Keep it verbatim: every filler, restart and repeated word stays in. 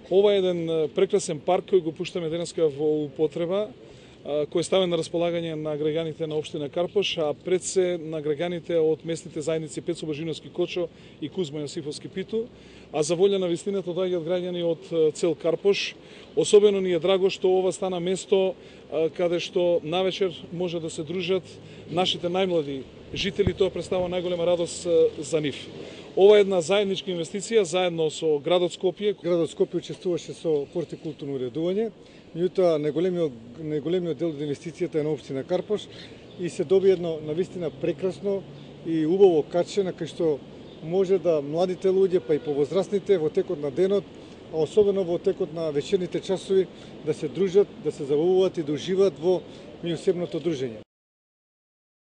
Ова е еден прекрасен парк кој го пуштаме денеска во употреба, кој е ставен на располагање на граѓаните на општина Карпош, а пред се на граѓаните од местните заедници Пецо Божиновски Кочо и Кузма Јосифовски Питу, а за волја на вистината доаѓаат граѓани од цел Карпош. Особено ни е драго што ова стана место каде што навечер може да се дружат нашите најмлади жители, тоа представува најголема радост за нив. Ова е една заедничка инвестиција заедно со градот Скопје. Градот Скопје учествуваше со хортикултурно уредување, меѓутоа најголемиот најголемиот дел од инвестицијата е на општина Карпош и се доби едно навистина прекрасно и убаво каче на кај што може да младите луѓе, па и повозрастните во текот на денот, а особено во текот на вечерните часови, да се дружат, да се забавуваат и да уживаат во меѓусебното дружење.